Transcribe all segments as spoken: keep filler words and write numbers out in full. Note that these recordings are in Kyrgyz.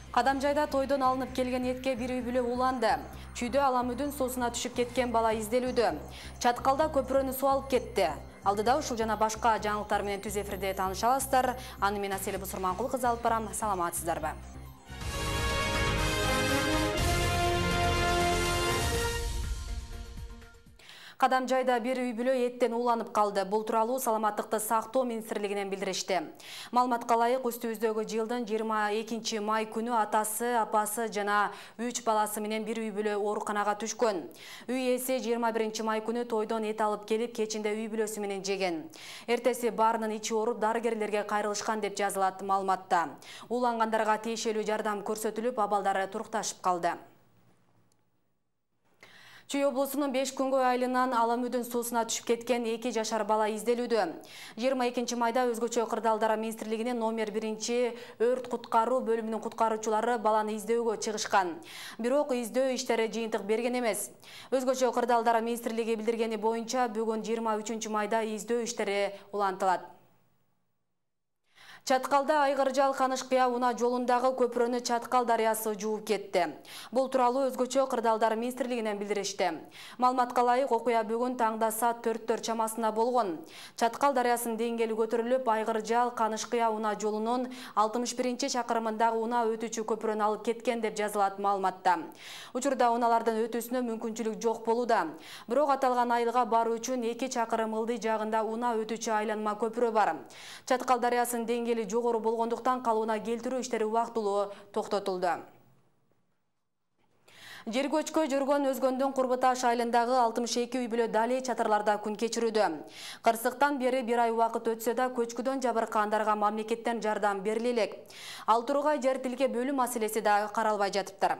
Кадамжайда тойдон алынып келген этке бир үй бүлө уланды. Чүйдө аламүдүн суусуна түшүп кеткен бала изделүүдө. Чаткалда көпүрөнү суу алып кетти. Алдыда ушул жана башка жаңылыктар менен түз эфирде тааныша аласыздар. Аны мен Аселе Бусурманкул кызы алып барам. Саламатсыздарбы? Кадамжайда бир үй бүлө эттен ууланып калды. Бул тууралуу Саламаттыкты сактоо министрлигинен билдиришти. Маалыматка ылайык, үстүбүздөгү жылдын жыйырма экинчи май күнү атасы, апасы жана үч баласы менен бир үй бүлө ооруканага түшкөн. Үй ээси жыйырма биринчи май күнү тойдон эт алып келип, кечинде үй бүлөсү менен жеген. Эртеси баарынын ичи ооруп, дарыгерлерге кайрылышкан деп жазылат маалыматта. Уулангандарга тиешелүү жардам көрсөтүлүп, абалдары турукташып калды. Чүй облусунун беш күнгөй айылынан аламүдүн суусуна түшүп кеткен эки жашар бала изделүүдө. жыйырма экинчи майда өзгөчө кырдаалдар министрлигинин номер биринчи өрт куткаруу бөлүмүнүн куткаруучулары баланы издөөгө чыгышкан. Бирок издөө иштери жыйынтык берген эмес. Өзгөчө кырдаалдар министрлиги билдиргени боюнча бүгүн жыйырма үчүнчү майда издөө иштери улантылат. Чаткалда Айгыржал Канышкыя унаа жолундагы көпүрөнү Чаткал дарыясы жууп кетти. Бул тууралуу өзгөчө кырдаалдар министрлигинен билдиришти. Маалыматка ылайык, окуя бүгүн таңда саат төрттөр чамасында болгон. Чаткал дарыясынын деңгээли көтөрүлүп, Айгыржал Канышкыя унаа жолунун алтымыш биринчи чакырымындагы унаа өтүүчү көпүрөнү алып кеткен деп жазылат маалыматта. Учурда унаалардын өтүүсүнө мүмкүнчүлүк жок болууда. Бирок аталган айылга баруу үчүн эки чакырым ылдый жагында унаа өтүүчү айланма көпүрө бар. Чаткал дарыясынын деңгээли жогору болгондуктан калыбына келтирүү иштери убактылуу токтотулду. Жер көчкө жүргөн Өзгөндүн Курбуташ айылындагы алтымыш эки үй бүлө дале чатырларда күн кечирүүдө. Кырсыктан бери бир ай убакыт өтсө да көчкүдөн жабыркагандарга мамлекеттен жардам бериле элек. Ал тургай жер тилке бөлүү маселеси да каралбай жатыптыр.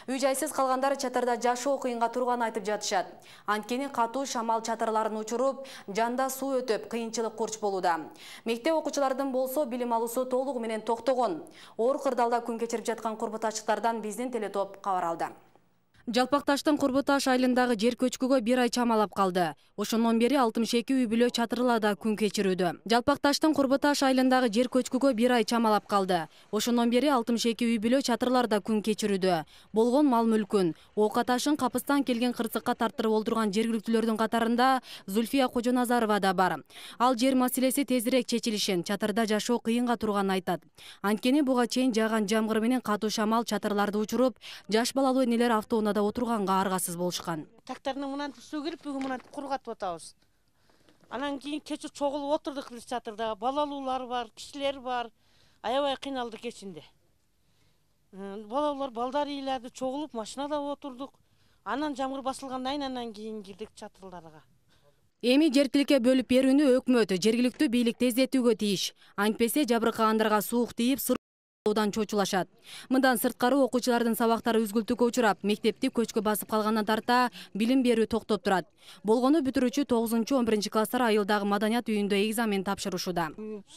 Үй жайсыз калгандар чатырда жашоо кыйынга турганын айтып жатышат. Анткени катуу шамал чатырларын учуруп, жанда суу өтүп, кыйынчылык курч болууда. Мектеп окуучулардын болсо билим алуусу толугу менен токтогон. Оор кырдаалда күн кечирип жаткан курбуташтыктардан биздин телетоп кабар алды. Жалпакташтын Курбуташ айылындагы жер көчкүгө бир ай чамалап калды. Ошондон бери алтымыш эки үй бүлө чатырларда күн кечирүүдө. Жалпакташтын Курбуташ айылындагы жер көчкүгө бир ай чамалап калды. Ошондон бери алтымыш эки үй бүлө чатырларда күн кечирүүдө. Болгон мал мүлкүн, оока ташын Капыстан келген кырсыкка тарттырып олдурган жергиликтүүлөрдүн катарында Зульфия Кожоназарова да бар. Ал жер маселеси тезирээк чечилишин, чатырда жашоо кыйынга турганын айтат. Анткени буга чейин жааган жамгыр менен катуу шамал чатырларды учуруп, жаш балалуу энелер автоунаада отурганга аргасыз болушкан. Трактордун мынан суу кирип, бүгүн мынан кургатып атабыз. Анан кийин кече чогулуп отурдук биз чатырда. Балалуулар бар, кишилер бар. Аябай кыйналдык кечинде. Балалуулар балдар ыйлады, чогулуп машинада отурдук. Анан жамгыр басылгандан анан кийин кирдик чатырларга. Эми жер тилке бөлүп берүүнү өкмөт, жергиликтүү бийлик тездетүүгө тийиш. Антпесе жабыркагандарга суук тийип, одан чочулашат. Мындан сырткары окуучулардын сабактары үзгүлтүүгө учурап, мектепти көчкө басып калгандан тарта билим берүү токтоп турат. Болгону бүтүрүүчү тогузунчу он биринчи класстар айылдагы маданият үйүндө экзамен тапшырышууда.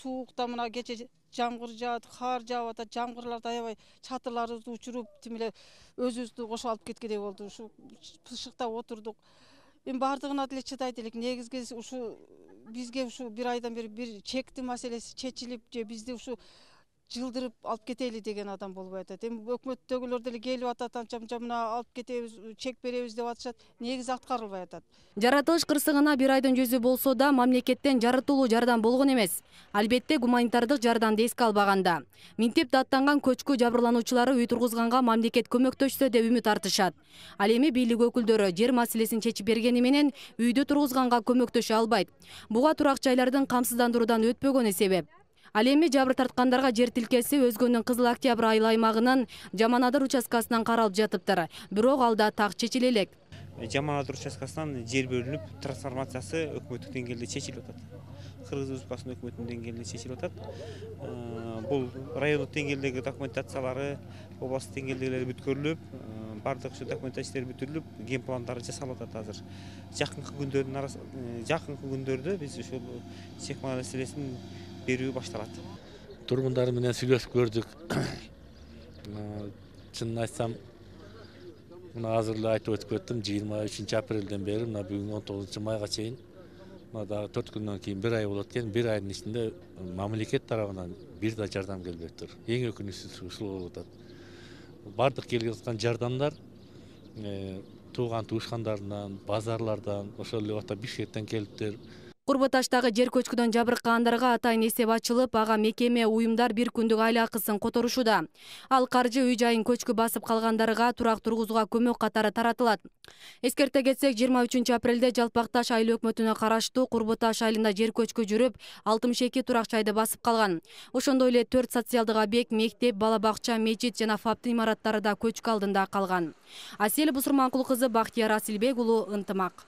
Суукта мына кече жамгыр жаат, кар жаап атат, жамгырларда аябай чатырларыбызды учуруп, тим эле өзүбүздү кошуп алып кеткендей болду. Ушу пышыкта отурдук. Эми бардыгына деле чыдайт элек. Негизги ушу бизге ушу бир айдан бери бир чекти маселеси чечилип, же бизди ушу жылдырып алып кетели деген адам болбой атат. Эми өкмөттөгүлөр деле келип атат, анча мынча мына алып кетебиз, чек беребиз деп атышат. Негизи аткарылбай атат. Жаратылыш кырсыгына бир айдын жүзү болсо да мамлекеттен жаратылуу жардам болгон эмес. Албетте гуманитардык жардамды эске албаганда. Минтип даттанган көчкү жабырлануучулары үй тургузганга мамлекет көмөктөшсө деп үмүт артышат. Ал эми бийлик өкүлдөрү жер маселесин чечип бергени менен үйдү тургузганга көмөктөшө албайт. Буга турак жайлардын камсыздандыруудан өтпөгөнү себеп. Ал эми жабыр тарткандарга жер тилкеси Өзгөндүн Кызыл Октябрь айыл аймагынын Жаманадыр участкасынан каралып жатыптыр. Бирок алда так чечиле элек. Жаманадыр участкасынан жер бөлүнүп, трансформациясы өкмөттүк деңгээлде чечилип атат. Кыргыз Республикасынын өкмөтүнүн деңгээлинде чечилип атат. Бул райондук деңгээлдеги документациялары, областтык деңгээлдегилери бүткөрүлүп, бардык ушу документациялар бүтүрүлүп, ген пландары жасалып атат азыр. Жакынкы күндөрдүн арасында, жакынкы күндөрдө биз ушул чек маселесин берүү башталат. Тургундар менен сүйлөшүп көрдүк. Чынын айтсам, мына азыр эле айтып өтүп кеттим, жыйырма үчүнчү апрелден бери мына бүгүн он тогузунчу майга чейин мына дагы төрт күндөн кийин бир ай болот экен. Бир айдын ичинде мамлекет тарабынан бир да жардам келбей тур. Эң өкүнүчтүүсү ушул болуп атат. бардык келип жаткан жардамдар тууган туушкандарынан, базарлардан, ошол эле убакта Бишкектен келиптир. Курбаташтагы жер көчкүдөн жабыркагандарга атайын эсеп ачылып, ага мекеме, уюмдар бир күндүк айыл акысын которушууда. Ал каржы үй жайын көчкү басып калгандарга турак тургузууга көмөк катары таратылат. Эскерте кетсек, жыйырма үчүнчү апрелде Жалпакташ айыл өкмөтүнө караштуу Курбаташ айылында жер көчкү жүрүп, алтымыш эки турак жайды басып калган. Ошондой эле төрт социалдык объект, мектеп, бала бакча, мечит жана ФАП имараттары да көчкү алдында калган. Асель Бусурманкул кызы, Бактияр Асилбек уулу, Ынтымак.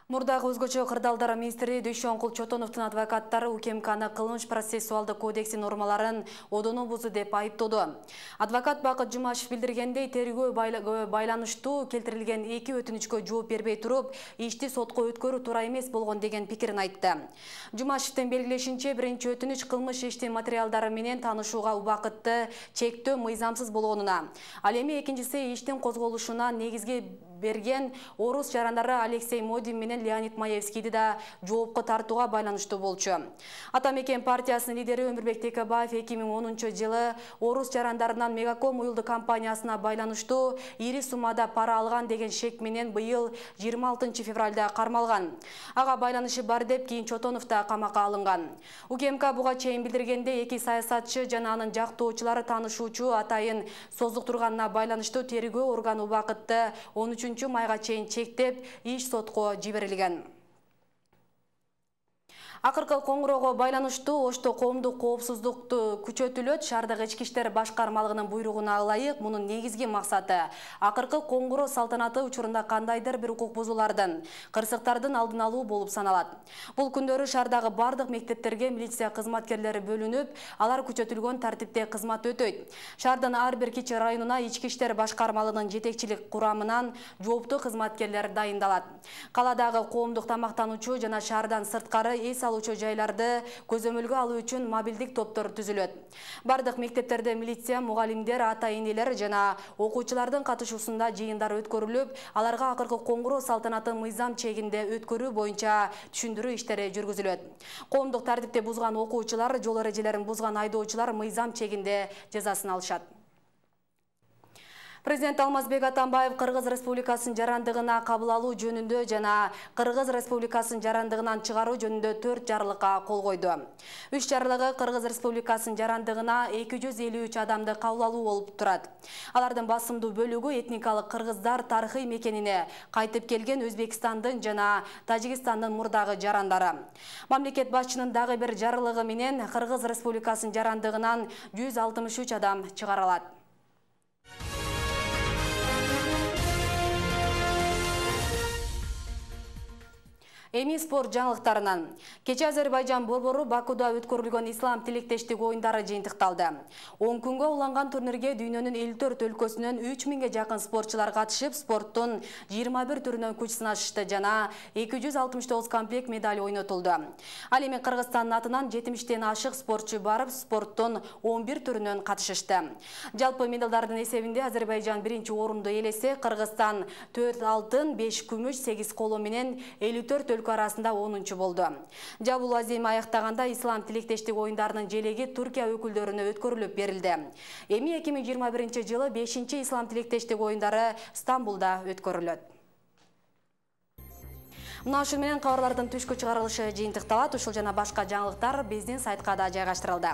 Мурдагы өзгөчө кырдаалдар министри Дүйшөнкул Чотоновдун адвокаттары УКМКны кылмыш процессуалдык кодекси нормаларын одоно бузду деп айыптоодо. Адвокат Бакыт Жумашев билдиргендей, тергөө байланыштуу келтирилген эки өтүнүчкө жооп бербей туруп, ишти сотко өткөрүү туура эмес болгон деген пикирин айтты. Жумашевдин белгилешинче, биринчи өтүнүч кылмыш иштин материалдары менен таанышууга убакытты чектөө мыйзамсыз болгонуна, ал эми экинчиси иштин козголушуна негизги берген орус жарандары Алексей Модин менен Леонид Маевскийди да жоопко тартууга байланыштуу болчу. Ата мекен партиясынын лидери Өмүрбек Текебаев эки миң онунчу жылы орус жарандарынан Мегаком уюлдук компаниясына байланыштуу ири суммада пара алган деген шек менен быйыл жыйырма алтынчы февралда кармалган. Ага байланышы бар деп кийин Чотонов да камакка алынган. УКМК буга чейин билдиргенде, эки саясатчы жана анын жактоочулары таанышуучу атайын создуктурганына байланыштуу тергөө органы убакытты он үчүнчү майга чейин чектеп, иш сотко жиберилген. Акыркы коңгуроого байланыштуу Ошто коомдук коопсуздукту күчөтүлөт. Шаардагы ички иштер башкармалыгынын буйругуна ылайык, мунун негизги максаты акыркы коңгуроо салтанаты учурунда кандайдыр бир укук бузуулардын, кырсыктардын алдын алуу болуп саналат. Бул күндөрү шаардагы бардык мектептерге милиция кызматкерлери бөлүнүп, алар күчөтүлгөн тартипте кызмат өтөйт. Шаардын ар бир кичи районуна ички иштер башкармалыгынын жетекчилик курамынан жооптуу кызматкерлер дайындалат. Каладагы коомдук тамактануучу жана шаардан сырткары эс алуучу жайларды көзөмөлгө алуу үчүн мобилдик топтор түзүлөт. Бардык мектептерде милиция, мугалимдер, ата-энелер жана окуучулардын катышуусунда жыйындар өткөрүлүп, аларга акыркы коңгуроо салтанатын мыйзам чегинде өткөрүү боюнча түшүндүрүү иштери жүргүзүлөт. Коомдук тартипти бузган окуучулар, жол эрежелерин бузган айдоочулар мыйзам чегинде жазасын алышат. Президент Алмазбек Атамбаев Кыргыз Республикасынын жарандыгына кабыл алуу жөнүндө жана Кыргыз Республикасынын жарандыгынан чыгаруу жөнүндө төрт жарлыкка кол койду. Үч жарлыгы Кыргыз Республикасынын жарандыгына эки жүз элүү үч адамды кабыл алуу болуп турат. Алардын басымдуу бөлүгү этникалык кыргыздар тарыхый мекенине кайтып келген Өзбекстандын жана Тажикстандын мурдагы жарандары. Мамлекет башчынын дагы бир жарлыгы менен Кыргыз Республикасынын жарандыгынан жүз алтымыш үч адам чыгарылат. Эми спорт жаңылыктарынан. Кече Азербайжан борбору Бакуда өткөрүлгөн ислам тилектештик оюндары жыйынтыкталды. он күнгө уланган турнирге дүйнөнүн элүү төрт өлкөсүнөн үч миңге жакын спортчулар катышып, спорттун жыйырма бир түрүнөн күч сынашышты жана эки жүз алтымыш тогуз комплект медаль ойнотулду. Ал эми Кыргызстандын атынан жетимиштен ашык спортчу барып, спорттун он бир түрүнөн катышышты. Жалпы медалдардын эсебинде Азербайжан биринчи орунду ээлесе, Кыргызстан төрт алтын, беш күмүш, сегиз коло менен элүү төрт өлкө арасында онунчу болду. Жабул азем аяктаганда ислам тилектештик оюндарынын желеги Туркия өкүлдөрүнө өткөрүлүп берилди. Эми эки миң жыйырма биринчи жылы бешинчи ислам тилектештик оюндары Стамбулда өткөрүлөт. Мына ушун менен кабарлардын түшкү чыгарылышы жыйынтыкталат. Ушул жана башка жаңылыктар биздин сайтка да жайгаштырылды.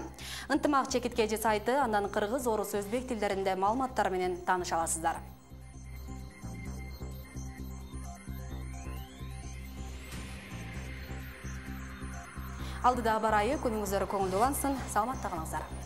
Ынтымак чекиткеji сайты, андан кыргыз, орус, өзбек тилдеринде маалыматтар менен тааныша аласыздар. Алдыда бар айы күнүңүздөр көңүлдүү улансын. Саламатта калыңыздар.